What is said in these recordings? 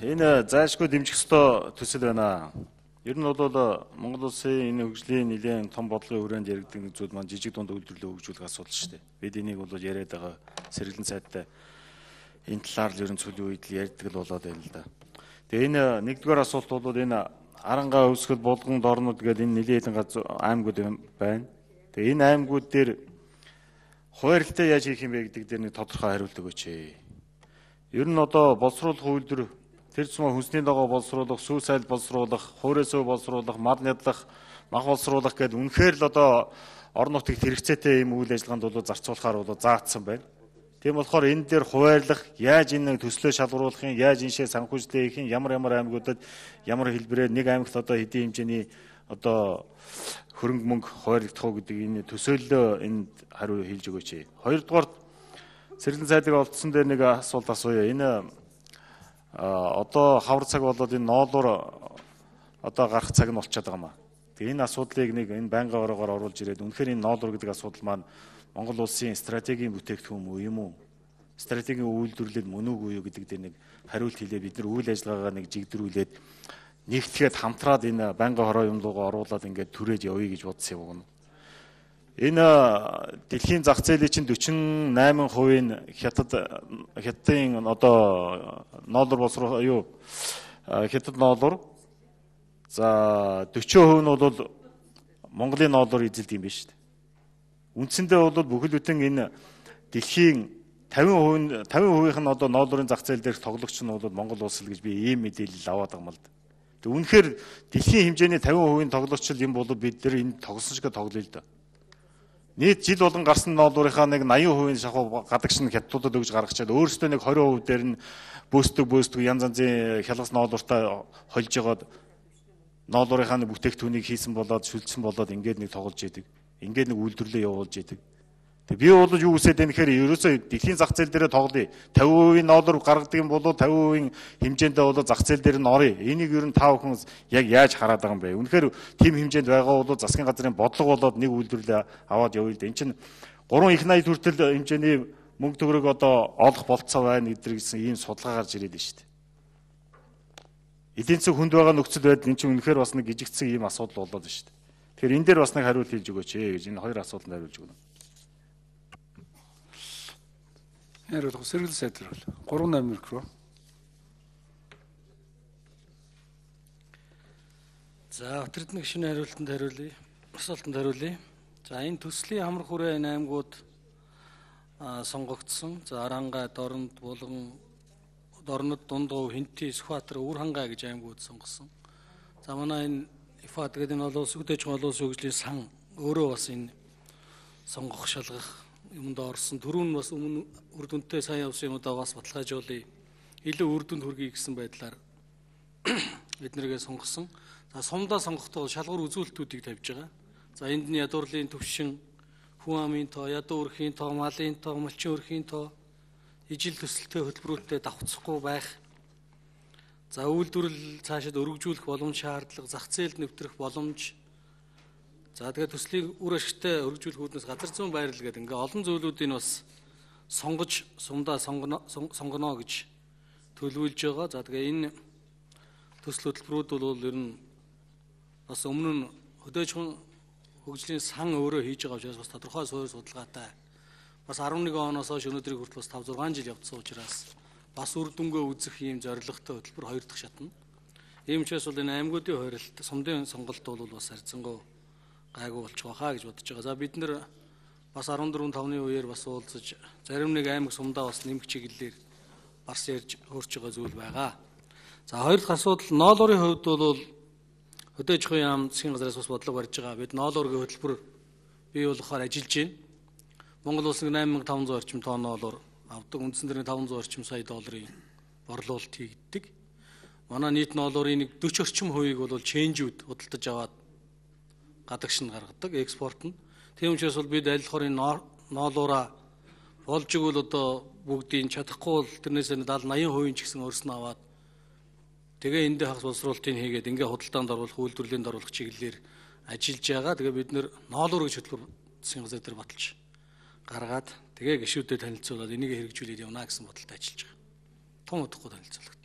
Энэ зайлшгүй дэмжих ёстой төсөл байна. Ер нь бол Монгол улсын энэ хөгжлийн нэлээд том бодлогын хүрээнд яригддаг нэг зүйл маань жижиг дунд үйлдвэрлэлээ хөгжүүлэх асуудал шүү дээ. Бид энийг бол яриад байгаа сэргэлэн сайдтай энэ талаар л ер нь сүүлийн үед л ярьдаг л болоод байна л да. Тэгээ энэ нэгдүгээр асуулт бол энэ Арангаа өвсгөл булган дорнод гэдэг энэ нэлээд газар аймагуд байна. Тэгээ энэ аймагуд дээр хуваарлтаа яаж хийх юм бэ гэдэг дээр нэг тодорхой хариулт өгөөч. Ер нь одоо боловсруулах үйлдвэр тэр зам хүнсний дагуу боловсруулах, сүү сайл боловсруулах, хуурайсөө боловсруулах, мал нядлах, мах боловсруулах гэдэг үнэхээр л одоо орон нутагт хэрэгцээтэй юм үйл ажиллагаанд бол зарцуулахаар бол заагдсан байна. Тийм болохоор энэ дээр хуваарлах, яаж энэ төслөө шалгаруулах юм, яаж энэшээ санхүүжлээ хийх юм, ямар аймагуудад ямар хэлбэрээр нэг аймагт одоо хэдийн хэмжээний одоо хөрөнгө мөнгө хуваарлагдах уу гэдэг энэ төсөөллөө энд хариу хэлж өгөөч. Хоёрдугаар сэргэлэн сайдыг олдсон дээр нэг асуулт асууя. Энэ одоо хавар цаг болоод энэ ноолуур одоо гарах цаг нь болчиход байгаа юм аа. Тэгээ энэ асуудлыг нэг энэ байнгын ороогоор оруулж ирээд үнэхээр энэ ноолуур гэдэг асуудал маань Монгол улсын стратегийн бүтээгдэхүүн мүү юм уу? Стратегийн үйлдвэрлэл мөн үгүй юу гэдэг дээр нэг хариулт хэлээ бид нар үйл ажиллагаагаа нэг жигдрүүлээд нэгтгэхэд хамтраад энэ байнгын хороо юм руугаа оруулаад ингээд түрээд явъя гэж бодсон юм. Энэ дэлхийн зах зээлийн чинь 48% хятадын одоо ноолуур боловсруулах юу хятад ноолуур за 40% нь бол Монголын ноолуур эзэлдэг юм байна шүү дээ. Үндсэндээ бол бүхэл бүтэн энэ дэлхийн 50% нь одоо ноолуурын зах зээл дээрх тоглогч нь бол Монгол улс л гэж би ийм мэдээлэл аваад байгаа юм л да. Тэг үнэхээр дэлхийн хэмжээний 50% тоглогч юм бол бид нар энэ тоглосон шиг тоглоё л да. Нийт жил болгон гарсан ноолуурынхаа нэг 80% шахуу гадагш нь хятадуудад өгж гаргачаад өөрөөсөө нэг 20% дээр нь бөөсдөг янз янзын хялгас ноолууртай холж жагаад ноолуурынхаа нэг бүтээгдэхүүнийг хийсэн болоод шүлжсэн болоод ингээд нэг тоглож идэг. Ингээд нэг үйлдвэрлэлээ явуулж идэг. Тэг би бол юу үсээд байна гэхээр ерөөсөө дэлхийн зах зээл дээр тоглоё. 50% ноолуур гаргадаг юм бол 50% хэмжээндээ бол зах зээл дээр нь орё. Энийг ер нь та бүхэн яг яаж хараад байгаа юм бэ? Үнэхээр тийм хэмжээнд байгаа бол засгийн газрын бодлого болоод нэг үйлдвэрлэлээ аваад явъя л да. Энд чинь 3 их 80 хүртэл хэмжээний мөнгө төгрөг одоо олох болцоо байна гэдэр гэсэн ийм судалгаа гарч ирээд байна шүү дээ. Эдийн засаг хүнд байгаа нөхцөл байдал энэ чинь үнэхээр бас нэг гижигдсэн ийм асуудал болоод байна шүү дээ. Тэгэхээр энэ дээр бас нэг хариулт хэлж өгөөч гэж энэ хоёр асуултанд хариулж өгнө. Хариулах сэргэлэн сайд бол 38 микро. За өтөрдний гишүүний хариултанд хариулъя. Асуултанд хариулъя. За энэ төслийн хамар хүрээ аймагуд сонгогдсон. За Арангаа, Дорнод, Булган, Дорнод, Дундгов, Хинти, Сүхбаатар, Өвөрхангай гэж аймагуд сонгосон. За манай энэ ИФА гэдэг энэ олон улсын хөдөөж олон улсын хөгжлийн сан өөрөө бас энэ сонгох шалгах юмд орсон. Түрүүн бас өмнө үр дүнтэй сайн явсан юмудаа бас баталгаажуулъя. Илүү үр дүнд хүргэе гэсэн байдлаар биднэргээ сонгосон. За сумдаа сонгохдоо шалгуур үзүүлэлтүүдийг тавьж байгаа. За энд нь ядуурлын төвшин, хүн амын тоо, ядуу өрхийн тоо, малын тоо, малчин өрхийн тоо, ижил төсөлтөй хөтөлбөрүүдэд давхцахгүй байх. За үйлдвэрлэл цаашид өргөжүүлэх боломж шаардлага, зах зээлд нэвтрэх боломж. За тэгээд төслийн үр ашигтай өргөжүүлэх үүднээс газар зүйн байрлал гэдэг ингээ олон зүйлүүдийг бас сонгож сумдаа сонгоно гэж төлөвлөж байгаа. За тэгээ энэ төсөл хөтөлбөрүүд бол ер нь бас өмнө нь хөдөөжин хөгжлийн сан өөрөө хийж байгаа учраас бас тодорхой суурь судалгаатай. Бас 11 оноос хойш өнөөдрийг хүртэл бас 5-6 жил явцсан учраас бас үр дүнгээ үзэх ийм зорилготой хөтөлбөр хоёр дахь шатна. Ийм учраас бол энэ аймагуудын хойролт сумдын сонголт бол бас харьцангуй гайгүй болчих واخа гэж бодож байгаа. За бид нэр бас 14-5-ны үеэр бас уулзаж зарим нэг аймаг сумдаа бас нэмэх чиглэлээр бас ярьж хөөрч байгаа зүйл байгаа. За хоёр дахь асуудал ноолуурын хувьд бол хөдөөж ахуйн яам засгийн газраас бас бодлого барьж байгаа. Бид ноолуурын хөтөлбөр бий болгохоор ажиллаж байна. Монгол улс 8500 орчим тонн ноолуур авдаг. Үндсэн дээр 500 орчим сая долларын борлуулалт хийгддэг. Манай нийт ноолуурын нэг 40 орчим хувийг бол ченжүүд худалдаж аваад гадагш нь гаргадаг, экспорт нь. Тийм учраас бол бид аль хорын ноолуураа болж игэл одоо бүгдийг чадахгүй бол тэрнээс 70-80% ч гэсэн өрснө аваад тэгээ эндээ хагас боловсруулалтыг хийгээд ингээ худалдаанд оруулах, үйлдвэрлэлд оруулах чиглэлээр ажиллаж байгаа. Тэгээ бид нэр ноолуур гэж хөтөлбөр засгийн газар дээр баталж гаргаад тэгээ гишүүдэд танилцуулаад энийг хэрэгжүүлээд явна гэсэн бодолтой ажиллаж байгаа. Том удахгүй танилцуулагд.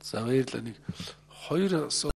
За баярлалаа. Нэг хоёр